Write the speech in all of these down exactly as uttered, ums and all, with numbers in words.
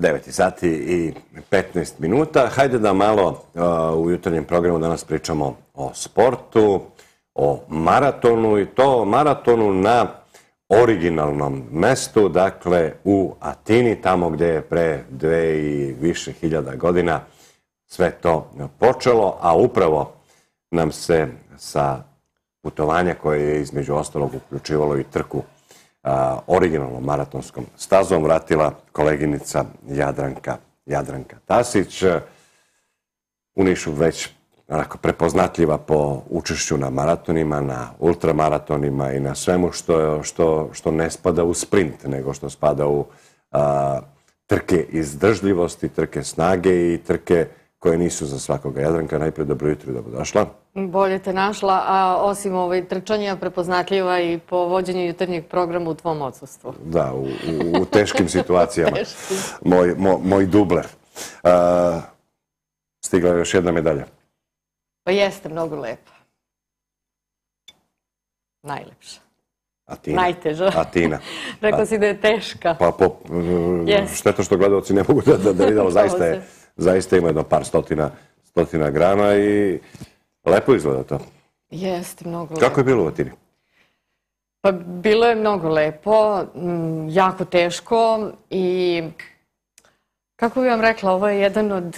devet sati i petnaest minuta. Hajde da malo u jutarnjem programu danas pričamo o sportu, o maratonu i to maratonu na originalnom mestu, dakle u Atini, tamo gde je pre dve i više hiljada godina sve to počelo, a upravo nam se sa putovanja koje je između ostalog uključivalo i trku originalnom maratonskom stazom vratila koleginica Jadranka, Jadranka Tasić. U Nišu već onako prepoznatljiva po učešću na maratonima, na ultramaratonima i na svemu što, što, što ne spada u sprint, nego što spada u a, trke izdržljivosti, trke snage i trke koje nisu za svakoga. Jadranka, najprej dobro jutro, dobro došla. Bolje te našla, a osim ovaj trčanja prepoznatljiva i po vođenju jutarnjeg programa u tvom odsustvu. Da, u, u, u teškim situacijama. Moj, mo, moj dubler. A, stigla je još jedna medalja. Pa jeste, mnogo lepa. Najlepša. Atina. Najteža. Atina. Rekla si da je teška. Pa po, šteta što gledalci ne mogu da, da, da vidimo, zaista, je, zaista ima jedno par stotina, stotina grama i lepo izgleda to. Jeste, mnogo lepo. Kako je bilo u Atini? Pa bilo je mnogo lepo, jako teško i kako bih vam rekla, ovo je jedan od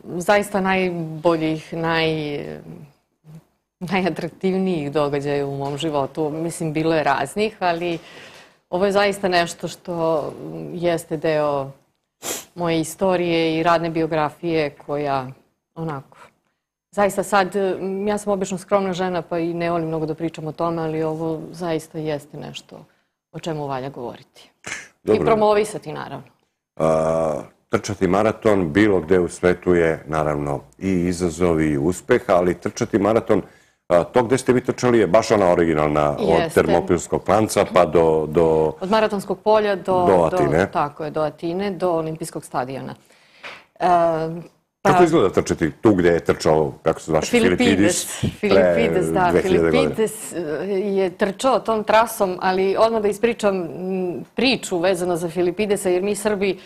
zaista najboljih, naj, najatraktivnijih događaja u mom životu. Mislim, bilo je raznih, ali ovo je zaista nešto što jeste deo moje istorije i radne biografije koja, onako, zaista sad, ja sam obično skromna žena pa i ne volim mnogo da pričam o tome, ali ovo zaista jeste nešto o čemu valja govoriti. Dobro. I promovisati, naravno. A... Trčati maraton bilo gde u svetu je naravno i izazov i uspeh, ali trčati maraton, to gde ste vi trčali je baš ona originalna od Termopilskog klanca pa do... do od Maratonskog polja do... Do Atine. Do, tako je, do Atine, do Olimpijskog stadiona. E, pa, kako izgleda trčati tu gde je trčao, kako se zvaše, Filipides? Filipides, da. Filipides je trčao tom trasom, ali odmah da ispričam priču vezano za Filipidesa, jer mi Srbi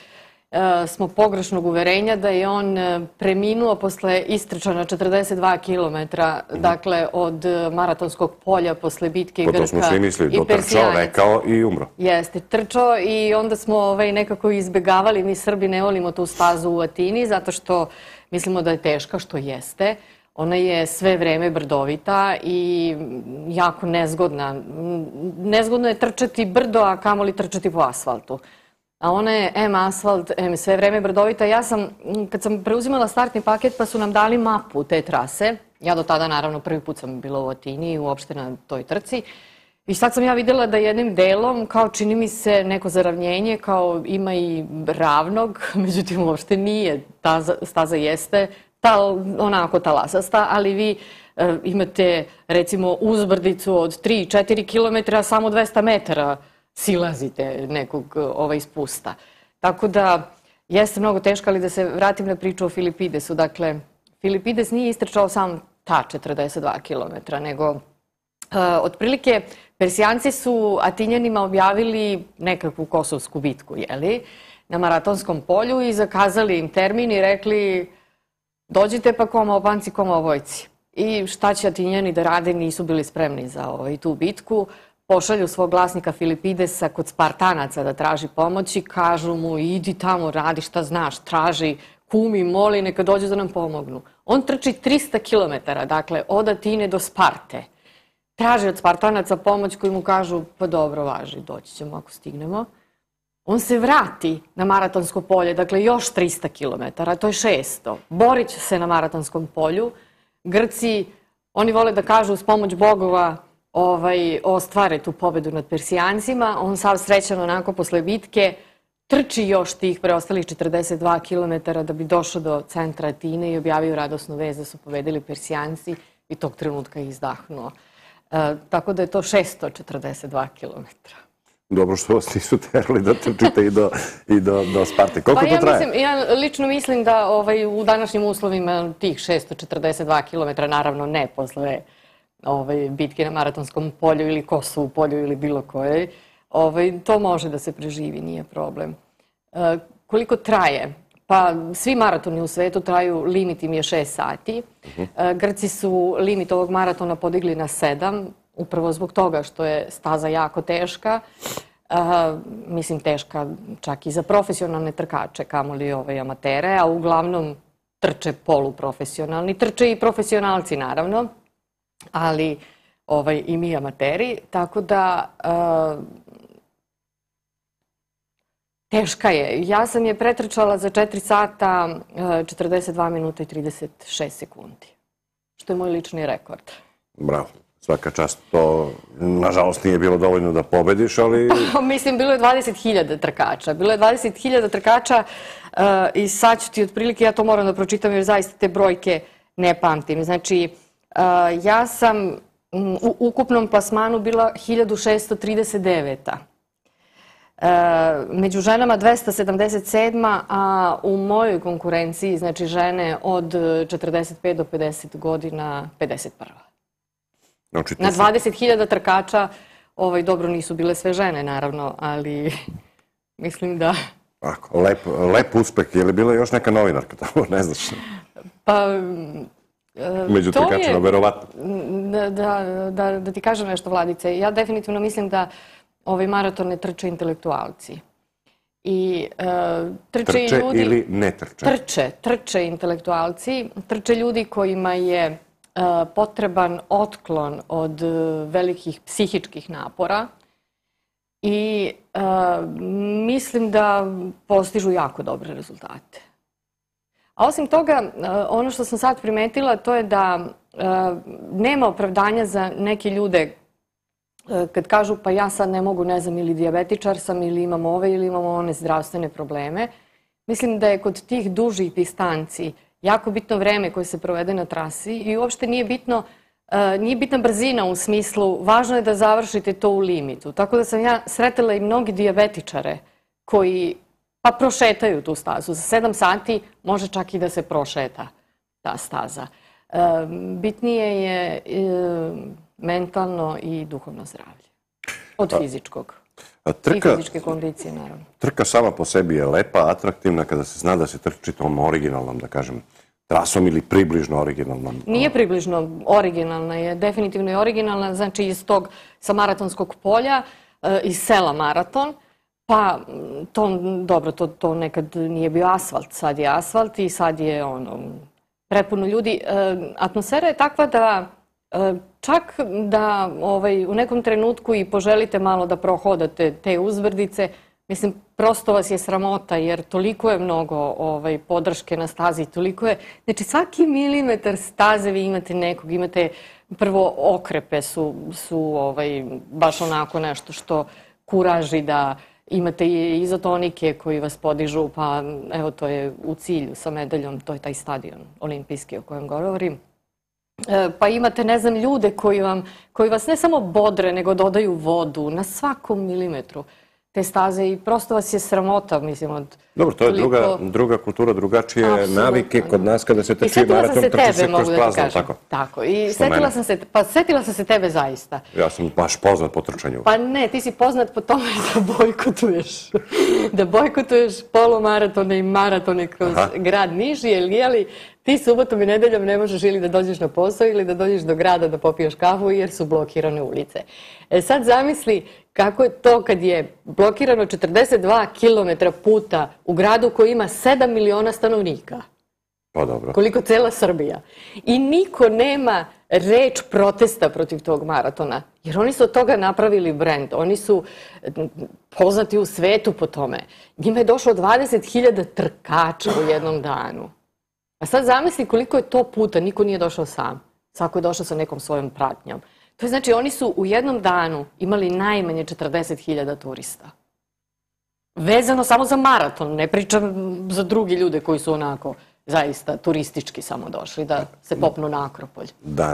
smo pogrešnog uverenja da je on preminuo posle istrčana četrdeset dva kilometra, dakle od Maratonskog polja posle bitke Grka i Persijanaca. To smo svi mislili, dotrčao, rekao i umro. Jeste, trčao i onda smo nekako izbegavali, mi Srbi ne volimo tu stazu u Atini zato što mislimo da je teška, što jeste. Ona je sve vreme brdovita i jako nezgodna. Nezgodno je trčati brdo, a kamoli trčati po asfaltu. A ona je em asfalt, em sve vreme brdovita. Ja sam, kad sam preuzimala startni paket, pa su nam dali mapu te trase. Ja do tada, naravno, prvi put sam bila u Atini, uopšte na toj trci. I sad sam ja videla da jednim delom, kao čini mi se neko zaravnjenje, kao ima i ravnog, međutim uopšte nije. Ta staza jeste onako talasasta, ali vi imate, recimo, uzbrdicu od tri do četiri kilometra, samo dvesta metara silazite nekog ovaj spusta. Tako da jeste mnogo teško, ali da se vratim na priču o Filipidesu. Dakle, Filipides nije istrčao sam ta četrdeset dva kilometra, nego uh, otprilike Persijanci su Atinjanima objavili nekakvu kosovsku bitku, jeli, na Maratonskom polju i zakazali im termin i rekli dođite pa koma opanci, koma ovojci. I šta će Atinjani da rade, nisu bili spremni za ovaj, tu bitku. Pošalju svog glasnika Filipidesa kod Spartanaca da traži pomoć i kažu mu idi tamo, radi šta znaš, traži, kumi, moli, neka dođu da nam pomognu. On trči trista kilometara, dakle od Atine do Sparte. Traži od Spartanaca pomoć koji mu kažu pa dobro, važi, doći ćemo ako stignemo. On se vrati na Maratonsko polje, dakle još trista kilometara, to je šesto. Borit će se na Maratonskom polju. Grci, oni vole da kažu uz pomoć bogova Ovaj, ostvare tu pobedu nad Persijancima. On sav srećan onako posle bitke trči još tih preostalih četrdeset dva kilometara da bi došao do centra Atine i objavio radosnu vest da su pobedili Persijanci i tog trenutka je izdahnuo. E, tako da je to šesto četrdeset dva kilometra. Dobro što vas nisu terali da trčite i do, i do, do Sparte. Koliko pa to ja traje? Mislim, ja lično mislim da ovaj, u današnjim uslovima tih šesto četrdeset dva kilometra, naravno ne posle Ovaj, bitke na Maratonskom polju ili Kosovu polju ili bilo kojoj, ovaj, to može da se preživi, nije problem. E, koliko traje? Pa svi maratoni u svetu traju, limit im je šest sati. Grci su limit ovog maratona podigli na sedam, upravo zbog toga što je staza jako teška. Mislim, teška čak i za profesionalne trkače, kamoli ovaj amatere, a uglavnom trče poluprofesionalni. Trče i profesionalci, naravno, ali ovaj, i mi amateri. Tako da teška je. Ja sam je pretrčala za četiri sata, četrdeset dva minuta i trideset šest sekundi, što je moj lični rekord. Bravo. Svaka čast. To, nažalost, nije bilo dovoljno da pobediš, ali... Mislim, bilo je dvadeset hiljada trkača. Bilo je dvadeset hiljada trkača i sad ću ti otprilike, ja to moram da pročitam jer zaista te brojke ne pamtim. Znači, ja sam u ukupnom plasmanu bila hiljadu šesto trideset deveta. Među ženama dvesta sedamdeset sedma, a u mojoj konkurenciji, znači žene od četrdeset pet do pedeset godina, pedeset prva. Na dvadeset hiljada trkača, dobro nisu bile sve žene, naravno, ali mislim da... Lep uspeh. Je li bila još neka novinarka tamo, ne znaš? Pa... Među trkačima, verovatno. Da ti kažem nešto, Vladice, ja definitivno mislim da ovaj maraton ne trče intelektualci. Trče ili ne trče? Trče, trče intelektualci, trče ljudi kojima je potreban otklon od velikih psihičkih napora i mislim da postižu jako dobre rezultate. A osim toga, ono što sam sad primetila, to je da nema opravdanja za neke ljude kad kažu pa ja sad ne mogu, ne znam, ili dijabetičar sam, ili imam ove, ili imam one zdravstvene probleme. Mislim da je kod tih dužih distanci jako bitno vreme koje se provede na trasi i uopšte nije bitno, nije bitna brzina u smislu, važno je da završite to u limitu. Tako da sam ja sretela i mnogi dijabetičare koji pa prošetaju tu stazu. Za sedam sati može čak i da se prošeta ta staza. Bitnije je mentalno i duhovno zdravlje. Od fizičkog. I fizičke kondicije, naravno. Trka sama po sebi je lepa, atraktivna kada se zna da se trči tom originalnom, da kažem, trasom ili približno originalnom. Nije približno originalna, je definitivno je originalna, znači iz tog sa maratonskog polja, iz sela Maraton, pa to, dobro, to nekad nije bio asfalt, sad je asfalt i sad je ono, prepuno ljudi. Atmosfera je takva da čak da u nekom trenutku i poželite malo da prohodate te uzbrdice, mislim, prosto vas je sramota jer toliko je mnogo podrške na stazi, toliko je, znači svaki milimetar staze vi imate nekog, imate prvo okrepe su baš onako nešto što kuraži da imate i izotonike koji vas podižu, pa evo to je u cilju sa medaljom, to je taj stadion olimpijski o kojem govorim. Pa imate, ne znam, ljude koji vas ne samo bodre, nego dodaju vodu na svakom milimetru te staze i prosto vas je sramota, mislim, od... Dobro, to je druga kultura, drugačije navike kod nas kada se trči maraton, trči se kroz plazmu, tako? Tako, i setila sam se, pa setila sam se tebe zaista. Ja sam baš poznat po trčanju. Pa ne, ti si poznat po tome da bojkotuješ, da bojkotuješ polumaratone i maratone kroz grad Niš, jer ti subotom i nedeljom ne možeš ili da dođeš na posao ili da dođeš do grada da popiješ kafu jer su blokirane ulice. Sad zamisli kako je to kad je blokirano četrdeset dva kilometra puta u gradu koji ima sedam miliona stanovnika. Pa dobro. Koliko cela Srbija. I niko nema reč protesta protiv tog maratona. Jer oni su od toga napravili brend. Oni su poznati u svetu po tome. Njima je došlo dvadeset hiljada trkača u jednom danu. A sad zamisli koliko je to puta, niko nije došao sam. Svako je došao sa nekom svojom pratnjom. To je znači oni su u jednom danu imali najmanje četrdeset hiljada turista. Vezano samo za maraton, ne pričam za drugi ljude koji su onako zaista turistički samo došli da se popnu na Akropolj. Da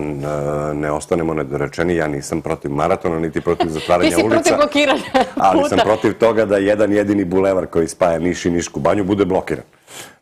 ne ostanemo nedorečeni, ja nisam protiv maratona, niti protiv zatvaranja ulica. Ti si protiv blokiranja puta. Ali sam protiv toga da jedan jedini bulevar koji spaja Niš i Nišku banju bude blokiran.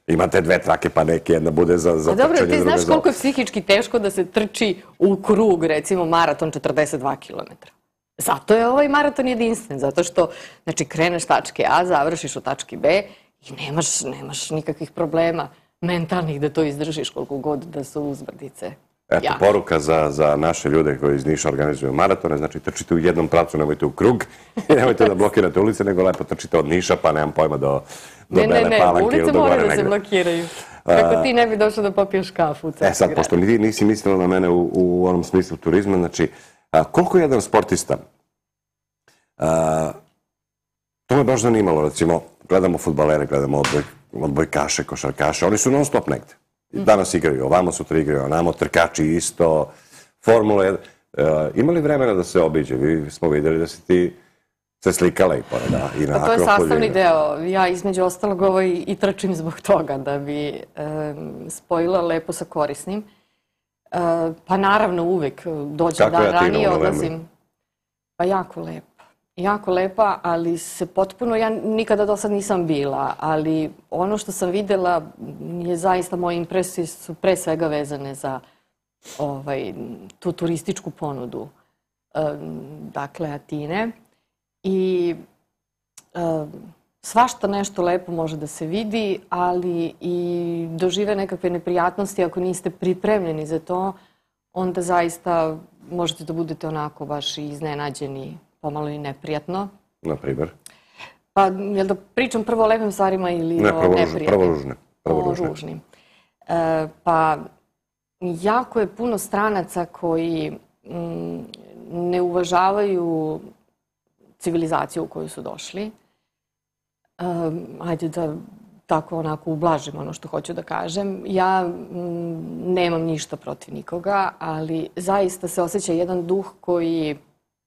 Imate dve trake, pa neke jedna bude za trčanje. Dobro, ti znaš koliko je psihički teško da se trči u krug, recimo maraton četrdeset dva kilometra. Zato je ovaj maraton jedinstven, zato što, znači, kreneš tačke A, završiš u tački B i nemaš, nemaš nikakvih problema mentalnih da to izdržiš koliko god da su uzbrdice. Eto, poruka za, za naše ljude koji iz Niša organizuju maratone, znači trčite u jednom pravcu, nemojte u krug i nemojte da blokirate ulice, nego lepo trčite od Niša, pa nemam pojma do, do ne, Bele ne, Palanke ili do gore negde. Ne, ne, ulice moraju da se blokiraju. Kako ti ne bi došao da popiješ kafu u centru grada. E sad, pošto ti nisi mislila na mene u, u onom smislu turizma, znači, a, koliko je jedan sportista, a, to me baš zanimalo, recimo, gledamo fudbalere, gledamo odboj, odbojkaše, košarkaše, oni su non stop negde. Danas igraju, ovamo sutra igraju, onamo, trkači isto, Formula jedan. E, ima li vremena da se obiđe? Vi smo vidjeli da si ti se slikala i pored, da, i na pa to je Akropolju. sastavni deo. Ja između ostalog ovo i, i trčim zbog toga, da bi e, spojila lepo sa korisnim. E, pa naravno uvek dođe Kako dan je Atina ranije, u novembru? odlazim. Pa jako lepa. Jako lepa, ali se potpuno, ja nikada do sad nisam bila, ali ono što sam videla je zaista, moje impresije su pre svega vezane za ovaj, tu turističku ponudu, e, dakle Atine. I e, svašta nešto lepo može da se vidi, ali i dožive nekakve neprijatnosti. Ako niste pripremljeni za to, onda zaista možete da budete onako baš iznenađeni, pomalo i neprijatno. Na primjer? Pa, jel da pričam prvo o lepim stvarima ili ne, o prvo neprijatnim? Prvo ružne. Prvo o ružne. ružnim. E, pa, jako je puno stranaca koji m, ne uvažavaju civilizaciju u koju su došli. Um, ajde da tako onako ublažim ono što hoću da kažem. Ja m, nemam ništa protiv nikoga, ali zaista se osjeća jedan duh koji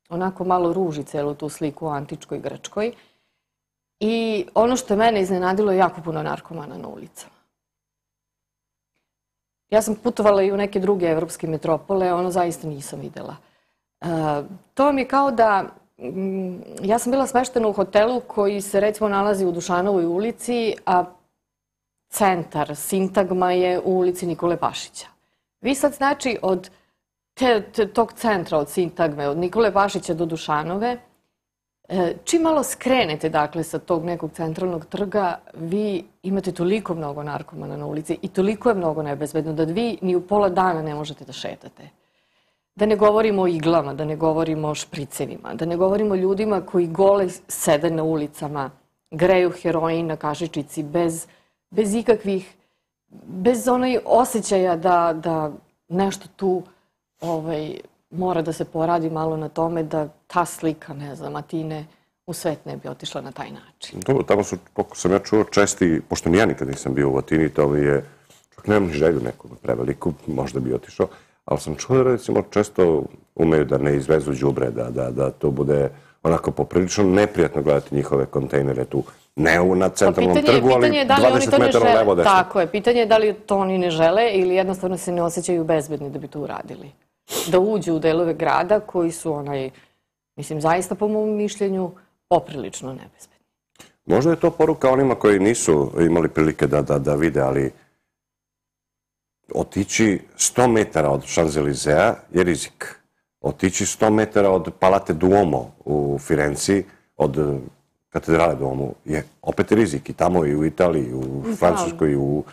onako malo ruži celu tu sliku o antičkoj Grčkoj. I ono što je mene iznenadilo je jako puno narkomana na ulicama. Ja sam putovala i u neke druge evropske metropole, ono zaista nisam videla. Uh, to vam je kao da ja sam bila smeštena u hotelu koji se recimo nalazi u Dušanovoj ulici, a centar, sintagma je u ulici Nikole Pašića. Vi sad znači od te, te, tog centra, od sintagme, od Nikole Pašića do Dušanove, čim malo skrenete dakle sa tog nekog centralnog trga, vi imate toliko mnogo narkomana na ulici i toliko je mnogo nebezbedno da vi ni u pola dana ne možete da šetate. Da ne govorimo o iglama, da ne govorimo o špricevima, da ne govorimo o ljudima koji gole sede na ulicama, greju heroin na kašičici bez, bez ikakvih, bez onaj osjećaja da, da nešto tu ovaj, mora da se poradi malo na tome da ta slika, ne znam, Atine u svet ne bi otišla na taj način. Dobro, tamo su, koliko sam ja čuo, česti, pošto ja nikad nisam bio u Atini, to mi je, čak nemam ni želju neku preveliku, možda bi otišao, ali sam čuo da recimo često umeju da ne izvezu đubre, da, da, da to bude onako poprilično neprijatno gledati njihove kontejnere tu, ne na centralnom pa pitanje, trgu, ali pitanje da dvadeset metara levo desno. Tako je, pitanje je da li to oni ne žele ili jednostavno se ne osjećaju bezbedni da bi to uradili. Da uđu u delove grada koji su onaj, mislim, zaista po mom mišljenju poprilično nebezbedni. Možda je to poruka onima koji nisu imali prilike da, da, da vide, ali otići sto metara od Champs-Élysées je rizik. Otići sto metara od Palate Duomo u Firenci, od katedrale Duomo, je opet rizik. I tamo i u Italiji, u Francuskoj, u...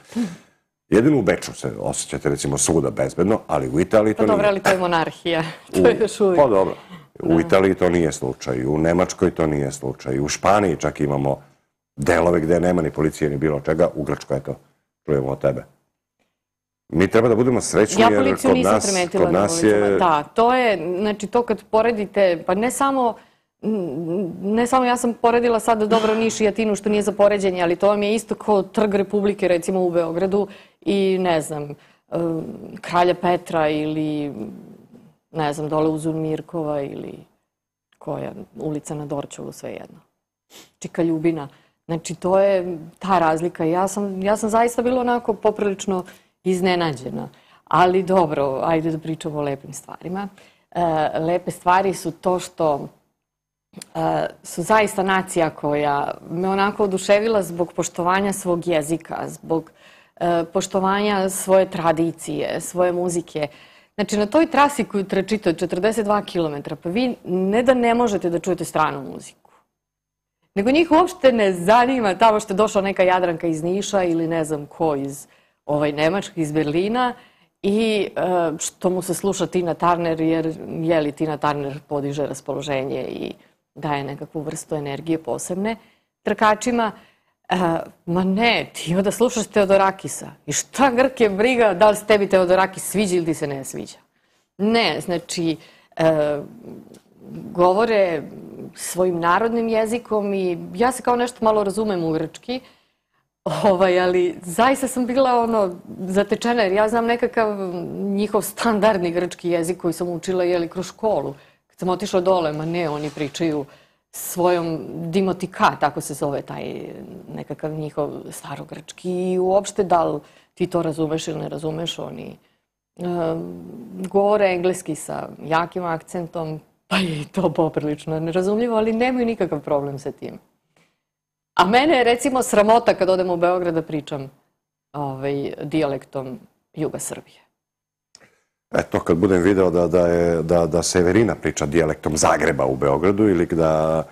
Jedino u Beču se osjećate recimo svuda bezbedno, ali u Italiji to nije. nije. Pa dobro, ali to je monarhija. To je još uvijek. Pa dobro. U Italiji to nije slučaj, u Nemačkoj to nije slučaj, u Španiji čak imamo delove gde nema ni policije ni bilo čega, u Grčkoj, eto, čujemo od tebe. Mi treba da budemo srećni jer kod nas, ja policiju nisam primetila na ulicama. Da, to je, znači to kad poredite, pa ne samo, ne samo ja sam poredila sad dobro Niš i Atinu što nije za poređenje, ali to vam je isto kao Trg Republike recimo u Beogradu i ne znam, Kralja Petra ili ne znam, dole uz Mirkova ili koja ulica na Dorćolu, svejedno. Čika Ljubina. Znači to je ta razlika. Ja sam, ja sam zaista bila onako poprilično iznenađena. Ali dobro, ajde da pričamo o lepim stvarima. E, lepe stvari su to što e, su zaista nacija koja me onako oduševila zbog poštovanja svog jezika, zbog e, poštovanja svoje tradicije, svoje muzike. Znači, na toj trasi koju trčite od četrdeset dva kilometra, pa vi ne da ne možete da čujete stranu muziku, nego njih uopšte ne zanima tamo što je došla neka Jadranka iz Niša ili ne znam ko iz ovaj, Nemačke, iz Berlina i uh, što mu se sluša Tina Turner, jer je li Tina Turner podiže raspoloženje i daje nekakvu vrstu energije posebne trkačima. Uh, ma ne, ti onda slušaš Teodorakisa. I šta Grke briga da li se tebi Teodorakis sviđa ili ti se ne sviđa? Ne, znači, uh, govore svojim narodnim jezikom i ja se kao nešto malo razumem u grčki, ovaj, ali zaista sam bila ono zatečena jer ja znam nekakav njihov standardni grčki jezik koji sam učila jeli kroz školu. Kad sam otišla dole, ma ne, oni pričaju svojom dimotika, tako se zove taj nekakav njihov starogrčki i uopšte da li ti to razumeš ili ne razumeš, oni um, govore engleski sa jakim akcentom, pa je i to poprilično nerazumljivo, ali nemaju nikakav problem sa tim. A mene je recimo sramota kad odem u Beograd da pričam ovaj, dijalektom juga Srbije. Eto, kad budem video da, da, je, da, da Severina priča dijalektom Zagreba u Beogradu ili da,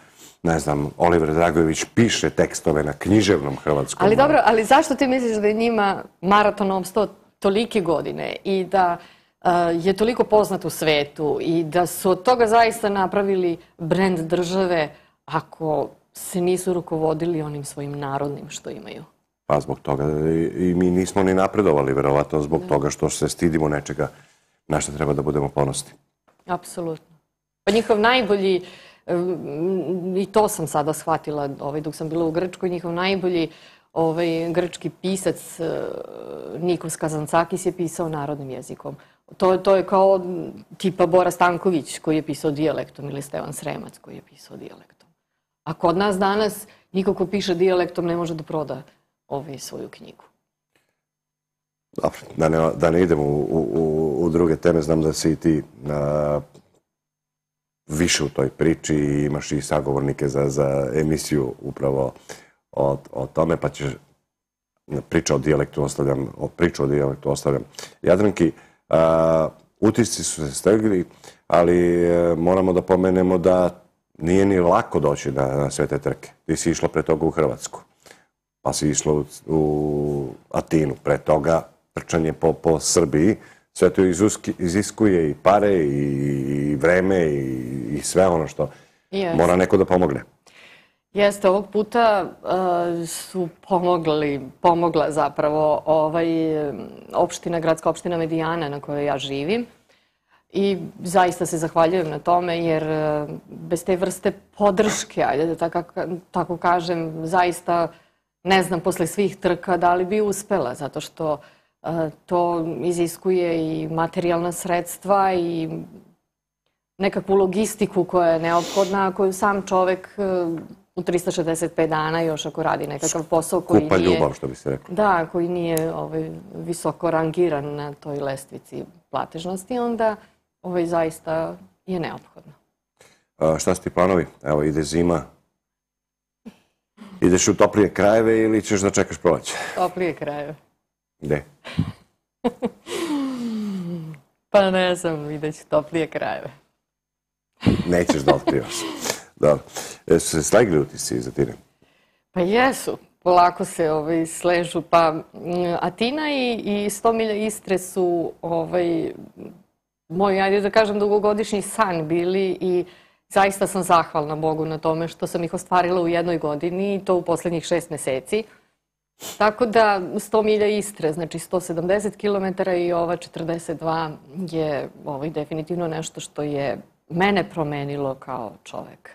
ne znam, Oliver Dragojević piše tekstove na književnom hrvatskom. Ali dobro, ali zašto ti misliš da je njima maraton opstao tolike godine i da uh, je toliko poznat u svetu i da su od toga zaista napravili brend države ako se nisu rukovodili onim svojim narodnim što imaju? Pa zbog toga i, i mi nismo ni napredovali, verovatno zbog da. toga što se stidimo nečega na što treba da budemo ponosni. Apsolutno. Pa njihov najbolji, i to sam sada shvatila ovaj, dok sam bila u Grčkoj, njihov najbolji ovaj, grčki pisac Nikos Kazantzakis je pisao narodnim jezikom. To, to je kao tipa Bora Stanković koji je pisao dijalektom ili Stevan Sremac koji je pisao dijalektom. A kod nas danas niko ko piše dijalektom ne može da proda ovaj, svoju knjigu. Dobro, da ne, da ne idemo u, u, u druge teme, znam da si i ti a, više u toj priči i imaš i sagovornike za, za emisiju upravo o, o tome, pa ćeš priča o dijalektu ostavljam, o priču o dijalektu ostavljam. Jadranki, a, utisci su se stegli, ali a, moramo da pomenemo da nije ni lako doći na, na sve te trke. Ti si išla pre toga u Hrvatsku, pa si išla u, u Atinu, pre toga trčanje po, po Srbiji. Sve to izuski, iziskuje i pare i, i vreme i, i sve ono što yes. mora neko da pomogne. Jeste, ovog puta uh, su pomogli, pomogla zapravo ovaj, opština, gradska opština Medijana na kojoj ja živim. I zaista se zahvaljujem na tome jer uh, bez te vrste podrške, ajde da tako, tako kažem, zaista ne znam posle svih trka da li bi uspela, zato što to iziskuje i materijalna sredstva i nekakvu logistiku koja je neophodna, koju sam čovek u trista šezdeset pet dana, još ako radi nekakav posao koji Skupa nije... ljubav, što bi se rekao. Da, koji nije ovaj, visoko rangiran na toj lestvici platežnosti, onda ovaj, zaista je neophodno. A, šta su ti planovi? Evo, ide zima. Ideš u toplije krajeve ili ćeš da čekaš proleće? Toplije krajeve. Gde? Pa ne znam, vidjet ću toplije krajeve. Nećeš da otkrivaš. Dobro. Jesu se slegli utisci iz Atine? Pa jesu. Polako se ovaj, sležu. Pa Atina i, i sto milja Istre su ovaj, moj, ajde da kažem, dugogodišnji san bili i zaista sam zahvalna Bogu na tome što sam ih ostvarila u jednoj godini i to u poslednjih šest meseci. Tako da sto milja Istre, znači sto sedamdeset kilometara i ova četrdeset dva je ovaj, definitivno nešto što je mene promenilo kao čoveka.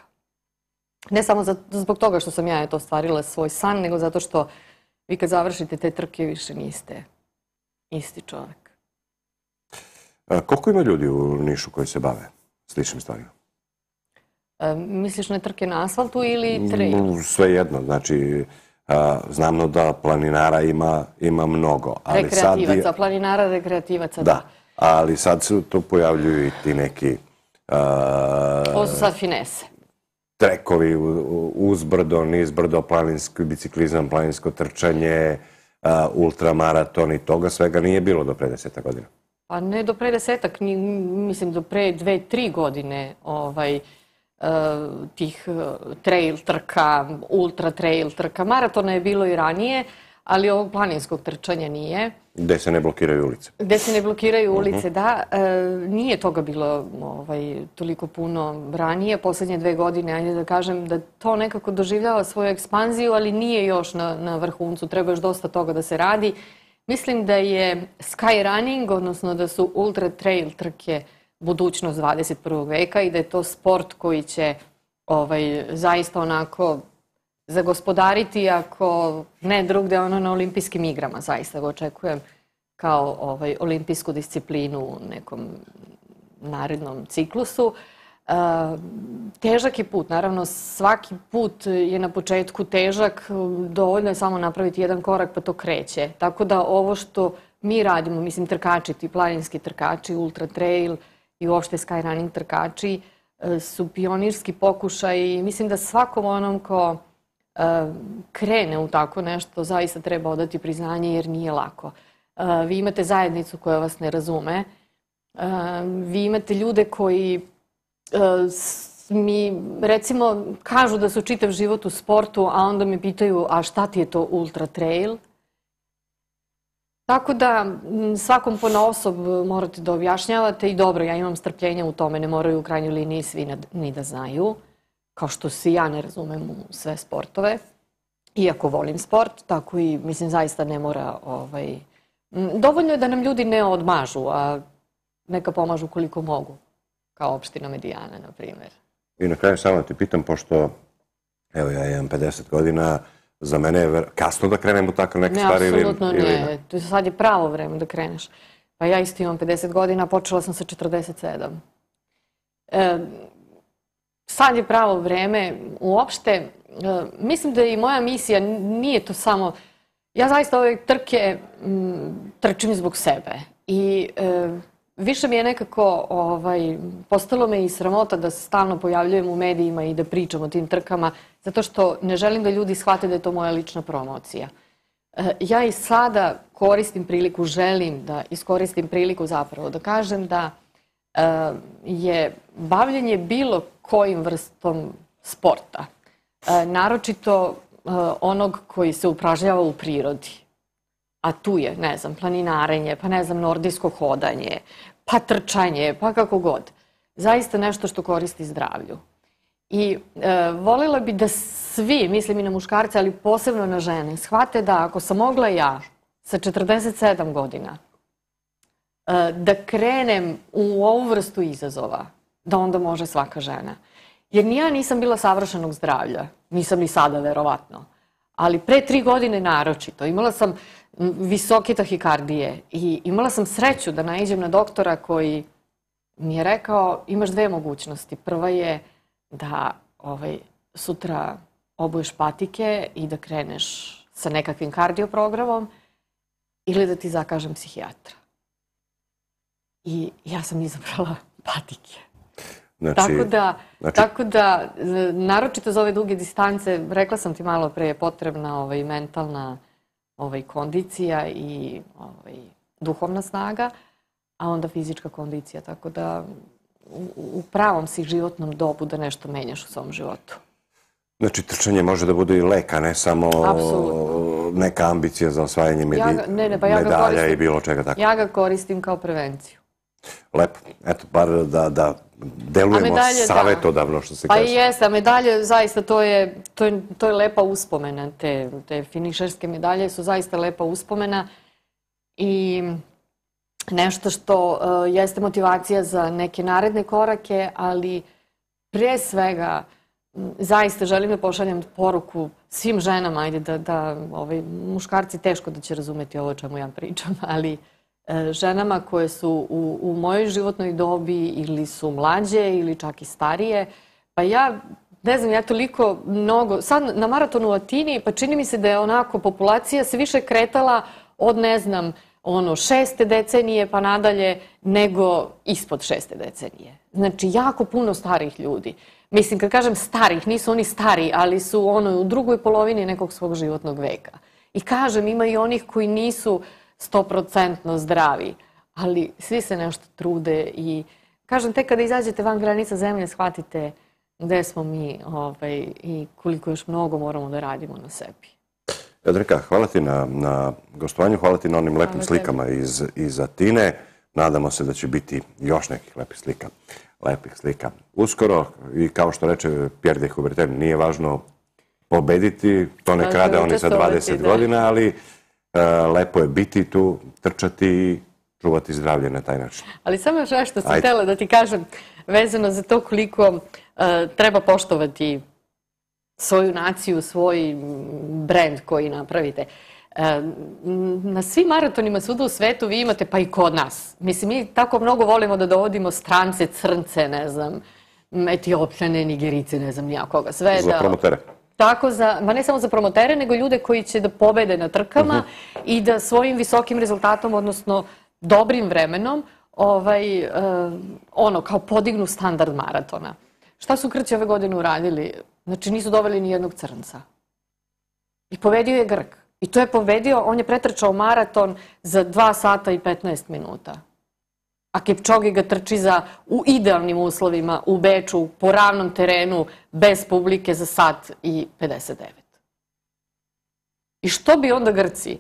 Ne samo za, zbog toga što sam ja eto ostvarila svoj san, nego zato što vi kad završite te trke više niste isti čovek. A, koliko ima ljudi u Nišu koji se bave sličnim stvarima? E, misliš na trke na asfaltu ili trail? Sve jedno, znači... Znamo da planinara ima, ima mnogo. Ali rekreativaca, sad, planinara, rekreativaca, da. Da, ali sad se tu pojavljuju i ti neki... Uh, Ovo su sad finese. Trekovi uzbrdo, nizbrdo, planinski biciklizam, planinsko trčanje, uh, ultramaraton i toga svega nije bilo do pre deseta godina. Pa ne do pre desetak, ni, mislim do pre dve, tri godine ovaj, tih trail trka, ultra trail trka. Maratona je bilo i ranije, ali ovog planinskog trčanja nije. Gde se ne blokiraju ulice. Gde se ne blokiraju ulice, da. Nije toga bilo toliko puno ranije. Poslednje dve godine, ajde da kažem, da to nekako doživljava svoju ekspanziju, ali nije još na vrhuncu. Treba još dosta toga da se radi. Mislim da je skyrunning, odnosno da su ultra trail trke budućnost dvadeset prvog veka i da je to sport koji će zaista onako zagospodariti, ako ne drugde, ono na olimpijskim igrama. Zaista ga očekujem kao olimpijsku disciplinu u nekom narednom ciklusu. Težak je put, naravno svaki put je na početku težak, dovoljno je samo napraviti jedan korak pa to kreće. Tako da ovo što mi radimo, mislim trkači, ti planinski trkači, ultra trail i uopšte skyrunning trkači su pionirski pokušaj i mislim da svakom onom ko krene u tako nešto zaista treba odati priznanje jer nije lako. Vi imate zajednicu koja vas ne razume, vi imate ljude koji mi recimo kažu da su čitav život u sportu, a onda me pitaju a šta ti je to ultra trail? Tako da svakom ponaosob morate da objašnjavate i dobro, ja imam strpljenja u tome, ne moraju u krajnjoj liniji svi ni da znaju, kao što se ja ne razumem u sve sportove, iako volim sport, tako i mislim zaista ne mora, dovoljno je da nam ljudi ne odmažu, a neka pomažu koliko mogu. Kao opština Medijana, na primjer. I na kraju samo ti pitam, pošto evo ja imam pedeset godina, za mene je kasno da krenem u tako neke stvari ili ne? Ne, apsolutno ne. Sad je pravo vreme da kreneš. Pa ja isto imam pedeset godina, počela sam sa četrdeset sedam. Sad je pravo vreme. Uopšte, mislim da i moja misija nije to samo... Ja zaista ove trke trčim zbog sebe. I... Više mi je nekako, postalo me i sramota da se stalno pojavljujem u medijima i da pričam o tim trkama, zato što ne želim da ljudi shvate da je to moja lična promocija. Ja i sada koristim priliku, želim da iskoristim priliku zapravo, da kažem da je bavljenje bilo kojim vrstom sporta, naročito onog koji se upražnjava u prirodi, a tu je, ne znam, planinarenje, pa ne znam, nordijsko hodanje, pa trčanje, pa kako god. Zaista nešto što koristi zdravlju. I voljela bi da svi, mislim i na muškarce, ali posebno na žene, shvate da ako sam mogla ja sa četrdeset sedam godina da krenem u ovu vrstu izazova, da onda može svaka žena. Jer ni ja nisam bila savršenog zdravlja, nisam ni sada, verovatno. Ali pre tri godine naročito. Imala sam visoke tahikardije i imala sam sreću da naiđem na doktora koji mi je rekao imaš dve mogućnosti. Prva je da sutra obuješ patike i da kreneš sa nekakvim kardioprogramom ili da ti zakažem psihijatra. I ja sam izabrala patike. Tako da, naročito za ove duge distance, rekla sam ti malo pre, je potrebna mentalna kondicija i duhovna snaga, a onda fizička kondicija. Tako da u pravom si životnom dobu da nešto menjaš u svom životu. Znači, trčanje može da bude i lek, a ne samo neka ambicija za osvajanje medalja i bilo čega tako. Ja ga koristim kao prevenciju. Lepo. Eto, bar da delujemo savjetodavno, što se kaže. Pa i jeste, a medalje, zaista, to je lepa uspomena. Te finišerske medalje su zaista lepa uspomena i nešto što jeste motivacija za neke naredne korake, ali pre svega zaista želim da pošaljem poruku svim ženama, ajde da muškarci teško da će razumeti ovo o čemu ja pričam, ali ženama koje su u mojoj životnoj dobi ili su mlađe ili čak i starije. Pa ja, ne znam, ja toliko mnogo, sad na maratonu u Atini, pa čini mi se da je onako populacija se više kretala od, ne znam, ono, šeste decenije pa nadalje nego ispod šeste decenije. Znači, jako puno starih ljudi. Mislim, kad kažem starih, nisu oni stari, ali su ono u drugoj polovini nekog svog životnog veka. I kažem, ima i onih koji nisu stoprocentno zdravi, ali svi se nešto trude i kažem, tek kada izađete van granica zemlje, shvatite gde smo mi ovaj, i koliko još mnogo moramo da radimo na sebi. Jadranka, hvala ti na, na gostovanju, hvala ti na onim lepim Hvala slikama iz, iz Atine. Nadamo se da će biti još nekih lepih slika. Lepih slika. Uskoro, i kao što reče Pierre de Coubertin, nije važno pobediti, to ne krade oni sa dvadeset godina, ali uh, lepo je biti tu, trčati i čuvati zdravlje na taj način. Ali samo još nešto sam htjela da ti kažem vezano za to koliko uh, treba poštovati svoju naciju, svoj brend koji napravite. Na svim maratonima svuda u svetu vi imate, pa i kod nas. Mislim, mi tako mnogo volimo da dovodimo strance, crnce, ne znam, Etiopljane, Nigerice, ne znam nijakoga. Sve za promotere. Tako za, ma ne samo za promotere, nego ljude koji će da pobede na trkama i da svojim visokim rezultatom, odnosno dobrim vremenom, ovaj, ono, kao podignu standard maratona. Šta su Grci ove godine uradili? Znači, nisu doveli ni jednog crnca. I pobedio je Grk. I to je pobedio, on je pretrčao maraton za dva sata i petnaest minuta. A Kipčogi ga trči za, u idealnim uslovima, u Beču, po ravnom terenu, bez publike za sat i pedeset devet. I što bi onda Grci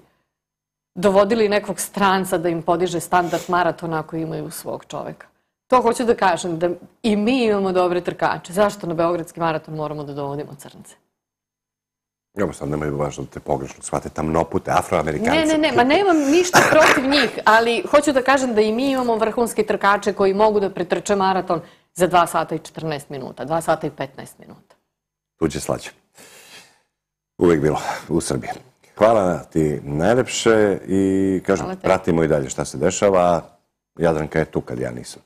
dovodili nekog stranca da im podiže standard maratona ako imaju svog čoveka? To hoću da kažem, da i mi imamo dobre trkače. Zašto na Beogradski maraton moramo da dovodimo crnce? Evo sad nemaju važno da te pogrešno shvate tamnopute, afroamerikance. Ne, ne, ne, ma nemam ništa protiv njih, ali hoću da kažem da i mi imamo vrhunske trkače koji mogu da pretrče maraton za dva sata i četrnaest minuta, dva sata i petnaest minuta. Tuđe slađe. Uvijek bilo u Srbiji. Hvala ti najlepše i kažem, pratimo i dalje šta se dešava. Jadranka je tu kad ja nisam.